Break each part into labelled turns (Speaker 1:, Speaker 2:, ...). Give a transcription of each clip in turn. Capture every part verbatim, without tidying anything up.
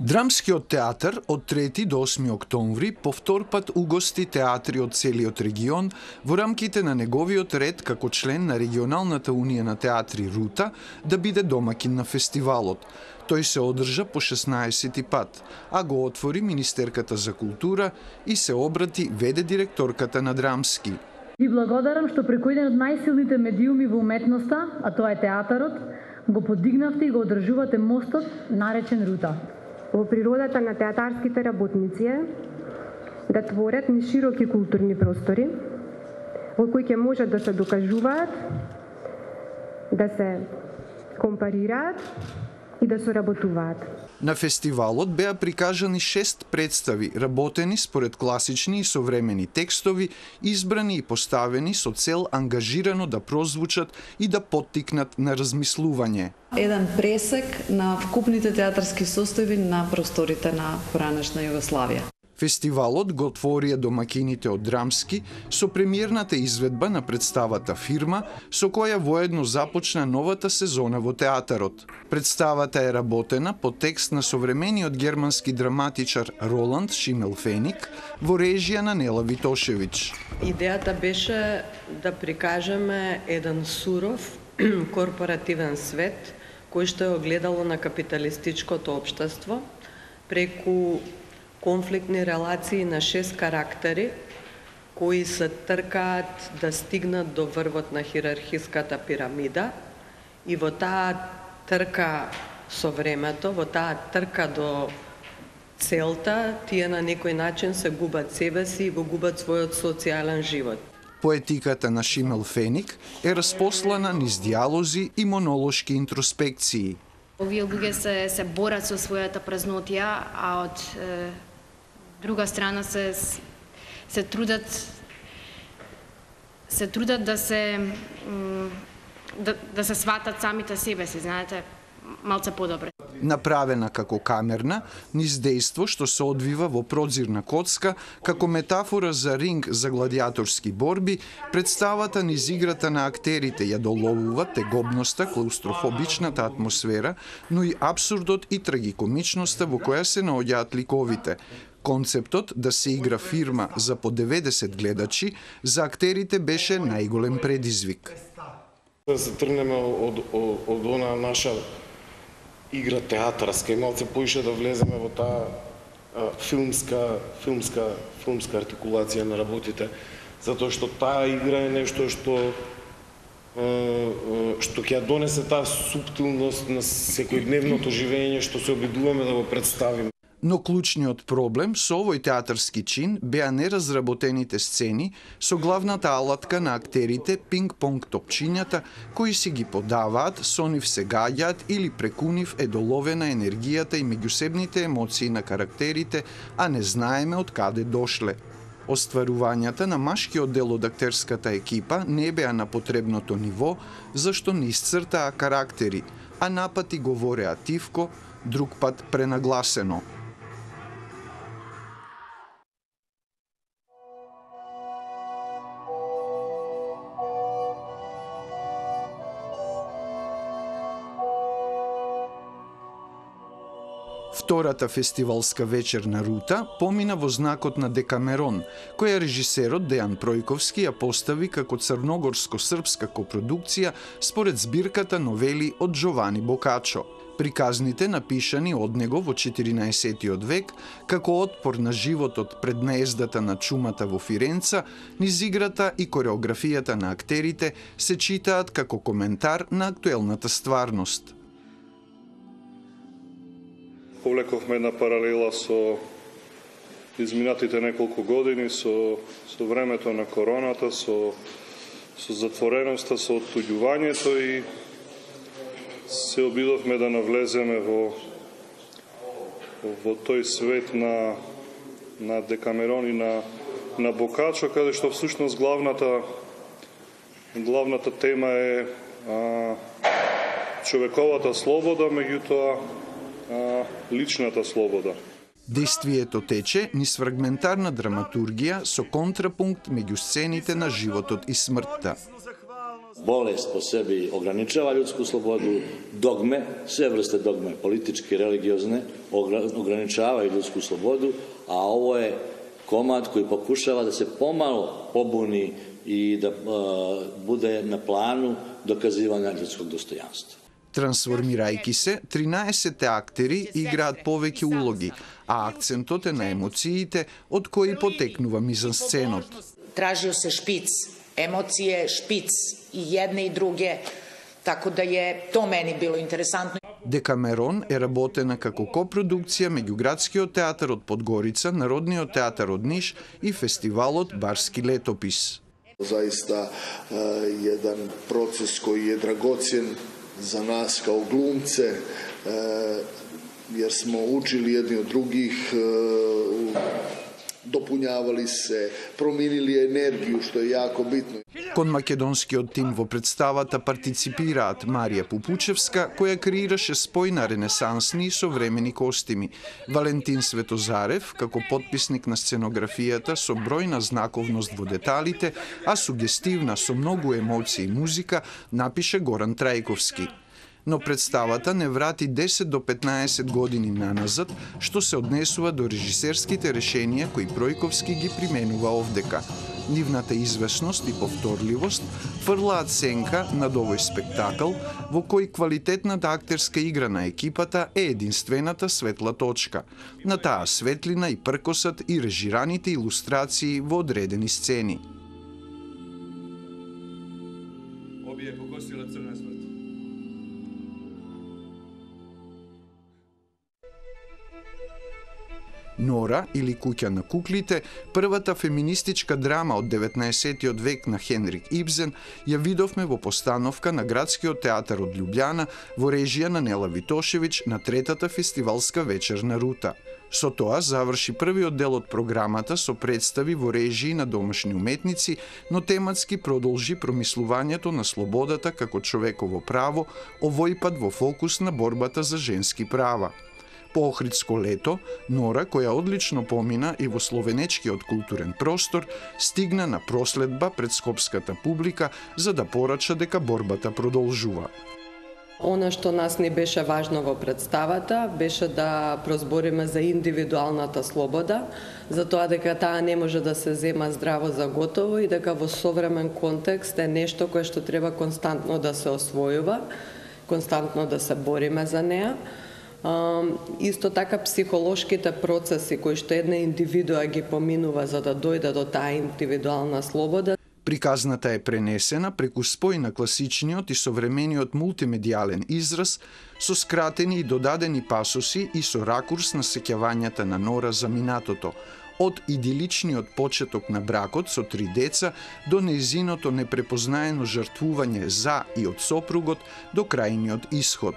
Speaker 1: Драмскиот театар од трети до осми октомври повторпат угости театри од целиот регион во рамките на неговиот ред како член на регионалната унија на театри Рута да биде домакин на фестивалот. Тој се одржа по шеснаесети пат, а го отвори Министерката за култура и се обрати веде директорката на Драмски.
Speaker 2: Ви благодарам што преку еден од најсилните медиуми во уметноста, а тоа е театарот, го подигнавте и го одржувате мостот наречен Рута.
Speaker 3: Во природата на театарските работници е да творат низ широки културни простори, во кои ќе можат да се докажуваат, да се компарираат и да соработуваат.
Speaker 1: На фестивалот беа прикажани шест представи, работени според класични и современи текстови, избрани и поставени со цел ангажирано да прозвучат и да поттикнат на размислување.
Speaker 4: Еден пресек на вкупните театарски состојби на просторите на поранешна Југославија.
Speaker 1: Фестивалот го отворија домакините од Драмски со премиерната изведба на представата Фирма, со која воедно започна новата сезона во театарот. Представата е работена по текст на современиот германски драматичар Роланд Шимелфеник во режија на Нела Витошевич.
Speaker 5: Идејата беше да прикажеме еден суров корпоративен свет кој што е огледало на капиталистичкото општество преку конфликтни релации на шест карактери кои се тркаат да стигнат до врвот на хиерархиската пирамида и во таа трка со времето, во таа трка до целта, тие на некој начин се губат себе си и го губат својот социјален живот.
Speaker 1: Поетиката на Шимелфеник е распослана низ диалози и монолошки интроспекции.
Speaker 6: Овие луѓе се, се борат со својата празнотија, а од е, друга страна се се трудат се трудат да се да, да се сватат самите себе си, знаете, малце подобре.
Speaker 1: Направена како камерна, низ дејство што се одвива во прозирна коцка, како метафора за ринг за гладиаторски борби, представата низ играта на актерите ја доловува тегобноста, клаустрофобичната атмосфера, но и абсурдот и трагикомичноста во која се наоѓаат ликовите. Концептот да се игра Фирма за по деветдесет гледачи за актерите беше најголем предизвик.
Speaker 7: Да се тргнеме од, од, од она наша игра театарска и малце поише да влеземе во таа а, филмска, филмска, филмска артикулација на работите, затоа што таа игра е нешто што а, што ќе ја донесе таа суптилност на секојдневното живење што се обидуваме да го представиме.
Speaker 1: Но клучниот проблем со овој театарски чин беа неразработените сцени со главната алатка на актерите пинг-понг топчињата кои си ги подаваат, со нив се гаѓаат или преку нив е доловена енергијата и меѓусебните емоции на карактерите, а не знаеме од каде дошле. Остварувањата на машкиот дел од актерската екипа не беа на потребното ниво, зашто не исцртаа карактери, а напати говореа тивко, друг пат пренагласено. Втората фестивалска вечер на Рута помина во знакот на Декамерон, која режисерот Дејан Пројковски ја постави како црногорско-српска копродукција според збирката новели од Джовани Бокачо. Приказните, напишани од него во четиринаесеттиот век, како отпор на животот пред наездата на чумата во Фиренца, низ играта и кореографијата на актерите се читаат како коментар на актуелната стварност.
Speaker 8: Повлековме една паралела со изминатите неколку години, со, со времето на короната, со, со затвореноста, со оттуѓувањето и се обидовме да навлеземе во, во тој свет на, на Декамерон и на, на Бокачо, каде што всушност главната, главната тема е а, човековата слобода, меѓутоа а, личната слобода.
Speaker 1: Действието тече низ фрагментарна драматургија со контрапункт меѓу сцените на животот и смртта.
Speaker 9: Bolest po sebi ograničava ljudsku slobodu, dogme, sve vrste dogme, političke, religiozne, ograničavaju ljudsku slobodu, a ovo je komad koji pokušava da se pomalo pobuni i da uh, bude na planu dokazivanja ljudskog dostojanstva.
Speaker 1: Трансформирајќи се, тринаесет актери играат повеќе улоги, а акцентот е на емоциите од кои потекнува мизансценот.
Speaker 10: Tražio se špic, emocije špic i jedne i druge, tako da je to meni bilo interesantno.
Speaker 1: Декамерон е работена како копродукција меѓу Градскиот театар од Подгорица, Народниот театар од Ниш и фестивалот Барски летопис.
Speaker 11: Zaista jedan proces koji je dragocjen za nas kao glumce, jer smo učili jedni od drugih, dopunjavali se, promenili енергiju, što je jako bitno.
Speaker 1: Кон македонскиот тим во представата партиципираат Марија Пупучевска, која креираше спој на ренесансни и современи костими, Валентин Светозарев, како потписник на сценографијата со бројна знаковност во деталите, а сугестивна со многу емоции и музика, напише Горан Трајковски. Но представата не врати десет до петнаесет години наназад, што се однесува до режисерските решенија кои Пројковски ги применува овдека. Нивната известност и повторливост фрлаат сенка над овој спектакл, во кој квалитетната актерска игра на екипата е единствената светла точка. На таа светлина и пркосот и режираните илустрации во одредени сцени.
Speaker 12: Оби е покосила црна смрт.
Speaker 1: Нора или Куќа на куклите, првата феминистичка драма од деветнаесеттиот век на Хенрик Ибсен, ја видовме во постановка на Градскиот театар од Љубљана во режија на Нела Витошевиќ на третата фестивалска вечерна рута. Со тоа заврши првиот дел од програмата со представи во режии на домашни уметници, но тематски продолжи промислувањето на слободата како човеково право, овој пат во фокус на борбата за женски права. По Охридско лето, Нора, која одлично помина и во словенечкиот културен простор, стигна на проследба пред скопската публика за да порача дека борбата продолжува.
Speaker 5: Она што нас не беше важно во представата, беше да прозбориме за индивидуалната слобода, за тоа дека таа не може да се зема здраво за готово и дека во современ контекст е нешто кое што треба константно да се освојува, константно да се бориме за неа. Uh, исто така психолошките процеси кои што една индивидуа ги поминува за да дојде до таа индивидуална слобода.
Speaker 1: Приказната е пренесена преку спој на класичниот и современиот мултимедијален израз со скратени и додадени пасоси и со ракурс на сеќавањата на Нора за минатото, од идиличниот почеток на бракот со три деца до нејзиното непрепознаено жртвување за и од сопругот до крајниот исход.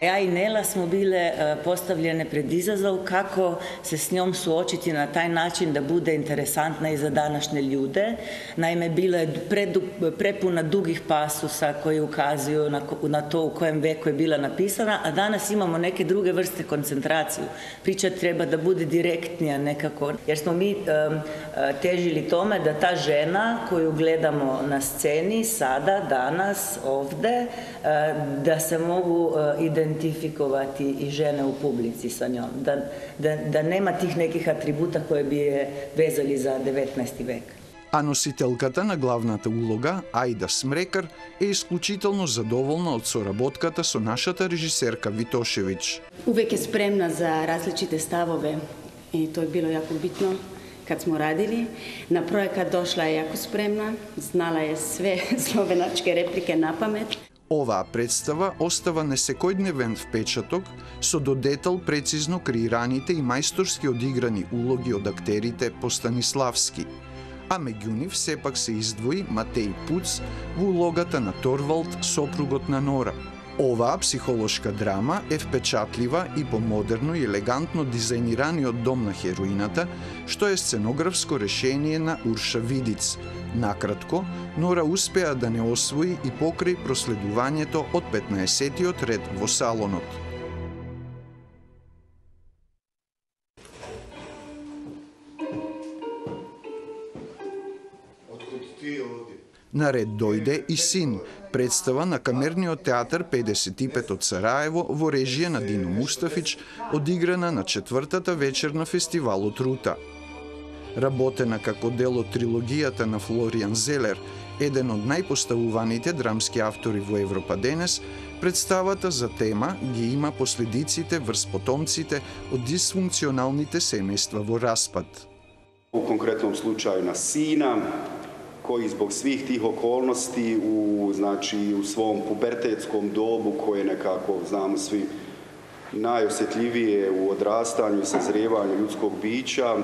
Speaker 13: Ja i Nela smo bile postavljene pred izazov kako se s njom suočiti na taj način da bude interesantna i za današnje ljude. Naime, bila je prepuna dugih pasusa koji ukazuju na to u kojem veku je bila napisana, a danas imamo neke druge vrste koncentraciju. Priča treba da bude direktnija nekako, jer smo mi težili tome da ta žena koju gledamo na sceni sada, danas, ovde, da se mogu identifikovati identifikovati i žene u publici sa njom, da, da, da nema tih nekih atributa koje bi je vezali za деветнаесети век.
Speaker 1: А носителката на главната улога, Ајда Смрекар, е исклучително задоволна од соработката со нашата режисерка Витошевиќ.
Speaker 14: Увек е спремна за различите ставове и тоа е било јако битно. Kad smo radili, na projekat došla je jako spremna, znala je sve slovenačke replike na pamet.
Speaker 1: Оваа представа остава несекојдневен впечаток со до детал прецизно креираните и мајсторски одиграни улоги од актерите по Станиславски. А меѓу нив сепак се издвои Матеј Пуц во улогата на Торвалд, сопругот на Нора. Оваа психолошка драма е впечатлива и по модерно и елегантно дизајнираниот дом на хероината, што е сценографско решение на Урша Видиц. Накратко, Нора успеа да не освои и покрај проследувањето од петнаесеттиот ред во салонот. Наред дојде и Син, представа на Камерниот театар педесет и пет од Сараево во режија на Дино Мустафич, одиграна на четвртата вечер на фестивалот Рута. Работена како дел од трилогијата на Флоријан Зелер, еден од најпоставуваните драмски автори во Европа денес, представата за тема ги има последиците врз потомците од дисфункционалните семејства во распад.
Speaker 15: U konkretnom slučaju na sina, koji zbog svih tih okolnosti u, znači, u svom pubertetskom dobu, koje nekako, znamo svi, najosjetljivije u odrastanju i sazrijevanju ljudskog bića,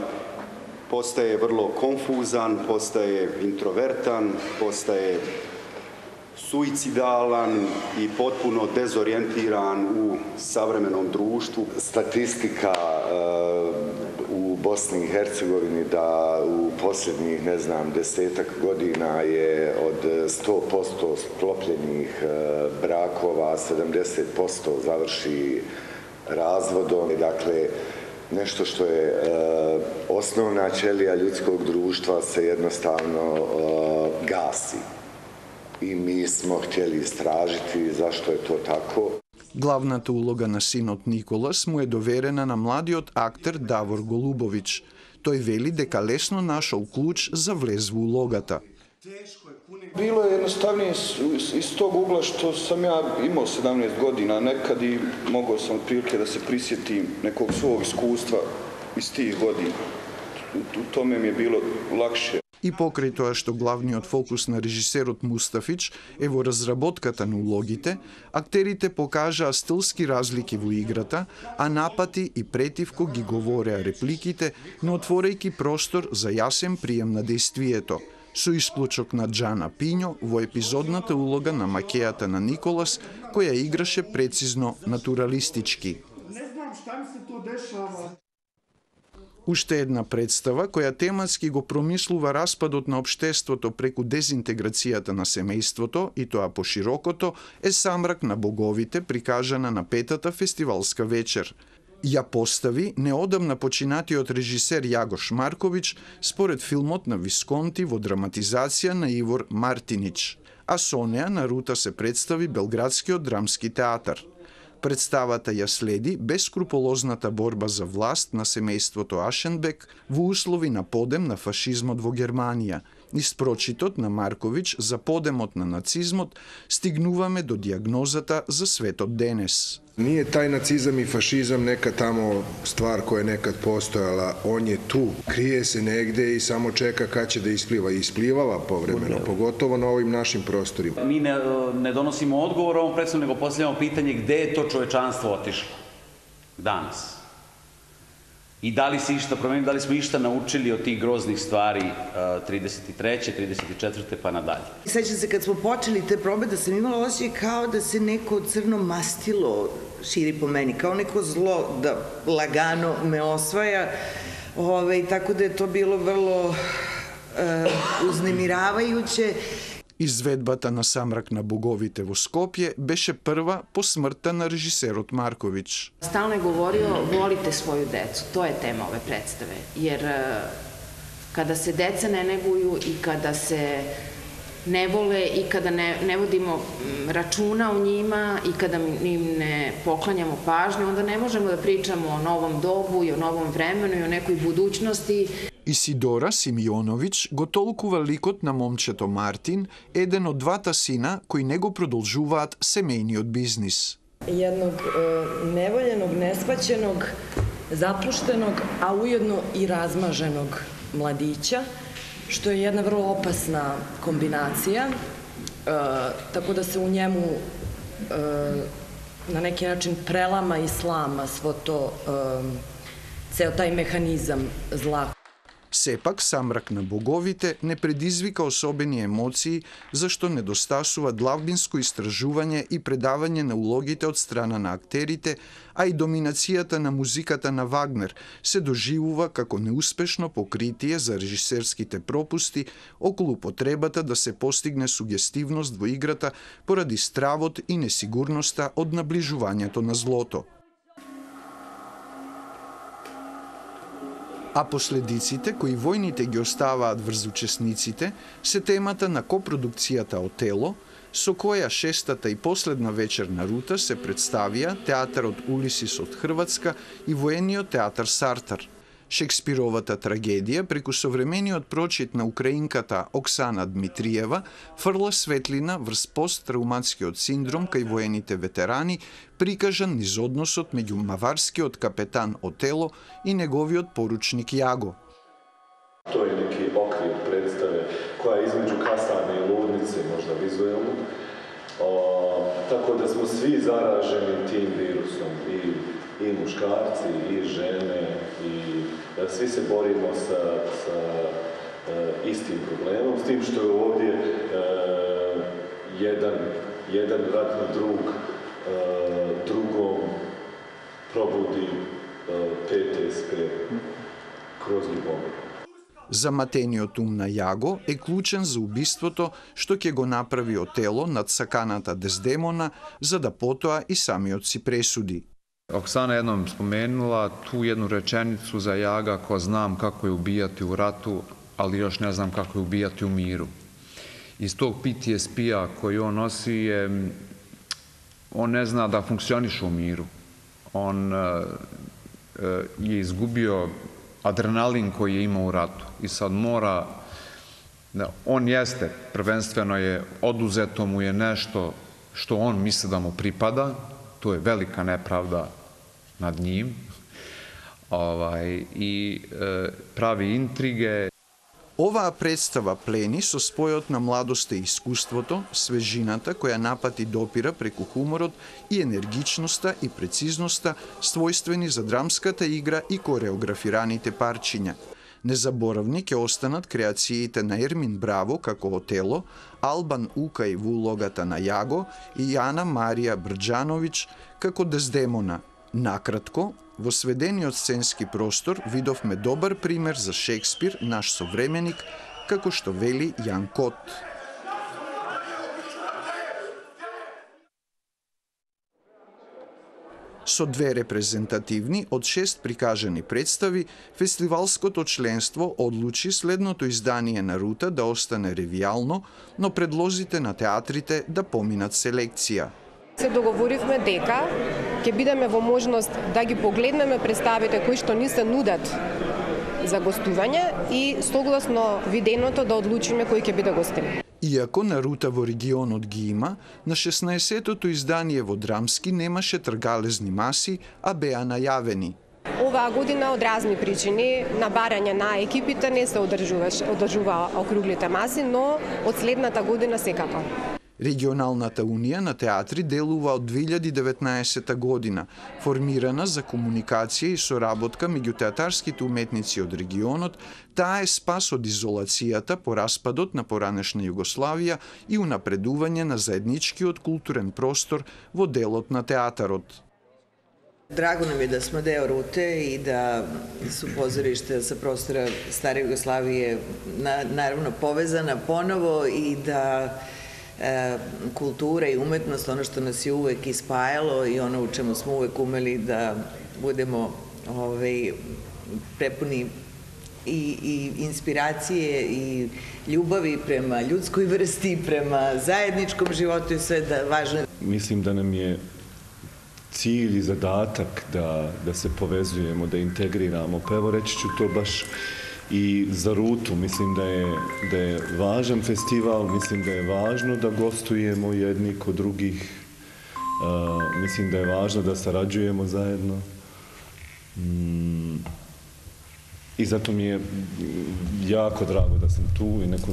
Speaker 15: postaje vrlo konfuzan, postaje introvertan, postaje suicidalan i potpuno dezorijentiran u savremenom društvu.
Speaker 16: Statistika u Bosni i Hercegovini da u posljednjih, ne znam, desetak godina je od sto posto sklopljenih brakova, sedamdeset posto završi razvodom. Dakle, nešto što je osnovna ćelija ljudskog društva se jednostavno gasi. I mi smo htjeli istražiti zašto je to tako.
Speaker 1: Главната улога на синот Николас му е доверена на младиот актер Давор Голубович. Тој вели дека лесно нашол клуч за влез во улогата.
Speaker 17: Bilo je jednostavnije iz tog ugla što sam ja imao sedamnaest godina nekad i mogao sam otprilike da se prisjetim nekog svog iskustva iz tih godina. U tome mi je bilo lakše.
Speaker 1: И покрај тоа што главниот фокус на режисерот Мустафич е во разработката на улогите, актерите покажаа стилски разлики во играта, а напати и претивко ги говореа репликите, но отворејќи простор за јасен прием на действието, со исклучок на Джана Пињо во епизодната улога на макејата на Николас, која играше прецизно натуралистички.
Speaker 18: Не знам шта ми се то дешава.
Speaker 1: Уште една представа која тематски го промислува распадот на општеството преку дезинтеграцијата на семејството и тоа поширокото е Самрак на боговите, прикажана на петата фестивалска вечер. Ја постави неодамна починатиот режисер Јагош Марковиќ според филмот на Висконти во драматизација на Ивор Мартинич, а со неа на Рута се представи Белградскиот драмски театар. Представата ја следи бескрупулозната борба за власт на семејството Ашенбек во услови на подем на фашизмот во Германија. Низ прочитот на Марковиќ за подемот на нацизмот стигнуваме до дијагнозата за светот денес.
Speaker 19: Nije taj nacizam i fašizam neka tamo stvar koja je nekad postojala, on je tu, krije se negde i samo čeka kad će da ispliva. I isplivala povremeno, pogotovo na ovim našim prostorima.
Speaker 20: Mi ne, ne donosimo odgovor ovom predstavu, nego postavljamo pitanje gde je to čovečanstvo otišlo danas. I da li se išta promenilo, da li smo išta naučili od tih groznih stvari trideset treće, trideset četvrte pa nadalje.
Speaker 21: Sećam se kad smo počeli te probe da sam imala osjećaj kao da se neko crno mastilo širi po meni, kao neko zlo da lagano me osvaja, ove, tako da je to bilo vrlo e, uznemiravajuće.
Speaker 1: Изведбата на Самрак на боговите во Скопје беше прва по смртта на режисерот Марковиќ.
Speaker 22: Stalno je govorio volite svoju decu, to je tema ove predstave, jer kada se deca ne neguju i kada se ne vole i kada ne, ne vodimo računa o njima i kada im ne poklanjamo pažnju, onda ne možemo da pričamo o novom dobu i o novom vremenu i o nekoj budućnosti.
Speaker 1: Исидора Симеоновиќ го толкува ликот на момчето Мартин, еден од двата сина кои не го продолжуваат семејниот бизнис.
Speaker 23: Jednog e, nevoljenog, neshvaćenog, zapuštenog, a ujedno i razmaženog mladića, što je jedna vrlo opasna kombinacija, e, tako da se u njemu e, na neki način prelama i slama svo to, e, ceo taj mehanizam zla.
Speaker 1: Сепак, Самрак на боговите не предизвика особени емоции, зашто недостасува длабинско истражување и предавање на улогите од страна на актерите, а и доминацијата на музиката на Вагнер се доживува како неуспешно покритие за режисерските пропусти околу потребата да се постигне сугестивност во играта поради стравот и несигурноста од наближувањето на злото. А последиците кои војните ги оставаат врз учесниците се темата на копродукцијата Отело, со која шестата и последна вечерна рута се представија театарот Улисис од Хрватска и воениот театар Сартар. Шекспировата трагедија преку современиот прочит на украинката Оксана Дмитриева фрла светлина врз посттрауматскиот синдром кај воените ветерани, прикажан низ односот меѓу маварскиот капетан Отело и неговиот поручник Јаго.
Speaker 2: Тој е неки оквир представе која е измеѓу касарне и луднице, можда визуелно. О, тако да смо сви заражени тим вирусом, и, и мушкарци, и жене, и svi se borimo sa, sa e, istim problemom, s tim što je ovdje e, jedan, jedan ratni drug e, drugom probudi e, P T S P kroz ljubav.
Speaker 1: Заматениот ум на Јаго е клучен за убиството што ќе го направи Отело над саканата Дездемона, за да потоа и самиот си пресуди.
Speaker 3: Oksana jednom spomenula tu jednu rečenicu za Jaga ko znam kako je ubijati u ratu, ali još ne znam kako je ubijati u miru. Iz tog P T S P-a koji on nosi je, on ne zna da funkcioniše u miru. On je izgubio adrenalin koji je imao u ratu i sad mora, on jeste, prvenstveno je oduzeto mu je nešto što on misli da mu pripada, to je velika nepravda nad njim, ovaj, i e, pravi intrige.
Speaker 1: Оваа представа плени со спојот на младоста и искуството, свежината која напати допира преку хуморот и енергичноста и прецизноста својствени за драмската игра и кореографираните парчиња. Незаборавни ќе останат креациите на Ермин Браво како Отело, Албан Укај во улогата на Јаго и Јана Марија Брџановиќ како Дездемона. Накратко, во сведениот сценски простор видовме добар пример за Шекспир, наш современик, како што вели Јан Кот. Со две репрезентативни од шест прикажани представи, фестивалското членство одлучи следното издание на рута да остане ревијално, но предлозите на театрите да поминат селекција.
Speaker 4: Се договоривме дека ќе бидеме во можност да ги погледнеме представите кои што ни се нудат за гостување и согласно виденото да одлучиме кој ќе биде гостин.
Speaker 1: Иако на рута во регионот ги има, на шеснаесеттото издание во Драмски немаше тргалезни маси, а беа најавени.
Speaker 4: Оваа година од разни причини, на барање на екипите не се одржува округлите маси, но од следната година секако.
Speaker 1: Регионалната унија на театри делува од две илјади и деветнаесетта година, формирана за комуникација и соработка меѓу театарските уметници од регионот. Таа е спас од изолацијата по распадот на поранешна Југославија и унапредување на заедничкиот културен простор во делот на театарот.
Speaker 21: Драго нам е да сме део руте и да су позоришта sa простора старе Југославије наравно повезана поново и да E, kultura i umetnost, ono što nas je uvek ispajalo i ono u čemu smo uvek umeli da budemo ovaj, prepuni i, i inspiracije i ljubavi prema ljudskoj vrsti, prema zajedničkom životu i sve da važno.
Speaker 24: Mislim da nam je cilj i zadatak da, da se povezujemo, da integriramo. Pa evo reći ću to baš i za rutu. Mislim da je, da je važan festival, mislim da je važno da gostujemo jedni kod drugih. Uh, mislim da je važno da sarađujemo zajedno. Mm. I zato mi je jako drago da sam tu i neko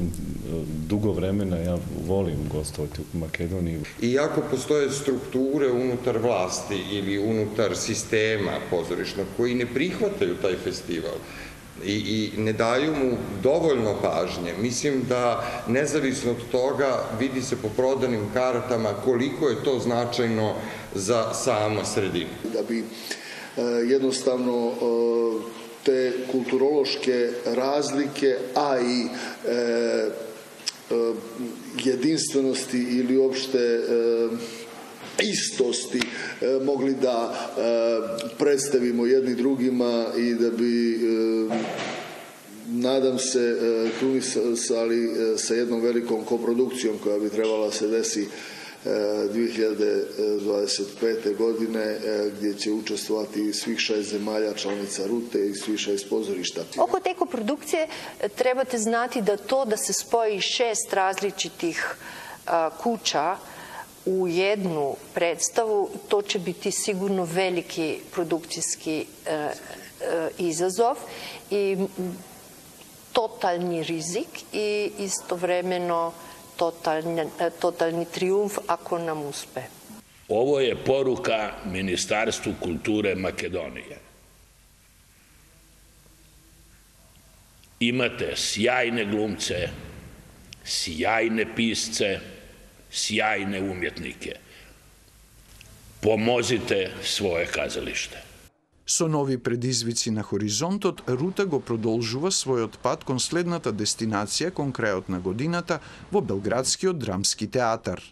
Speaker 24: dugo vremena ja volim gostovati u Makedoniji.
Speaker 25: Iako postoje strukture unutar vlasti ili unutar sistema pozorišnog koji ne prihvataju taj festival, I, i ne daju mu dovoljno pažnje. Mislim da nezavisno od toga vidi se po prodanim kartama koliko je to značajno za samu sredinu.
Speaker 11: Da bi e, jednostavno e, te kulturološke razlike, a i e, e, jedinstvenosti ili uopšte e, istosti mogli da predstavimo jedni drugima i da bi, nadam se, krunisali sa jednom velikom koprodukcijom koja bi trebala se desi dve hiljade dvadeset pete godine, gdje će učestvovati svih šest zemalja članica Rute i svih šest pozorišta.
Speaker 6: Oko te koprodukcije trebate znati da to da se spoji šest različitih kuća u jednu predstavu, to će biti sigurno veliki produkcijski izazov i totalni rizik i istovremeno totalni, totalni trijumf ako nam uspe.
Speaker 7: Ovo je poruka Ministarstvu kulture Makedonije. Imate sjajne glumce, sjajne pisce, sjajne umjetnike. Pomozite svoje kazalište.
Speaker 1: Со нови предизвици на хоризонтот, Рута го продолжува својот пат кон следната дестинација кон крајот на годината во Белградскиот драмски театар.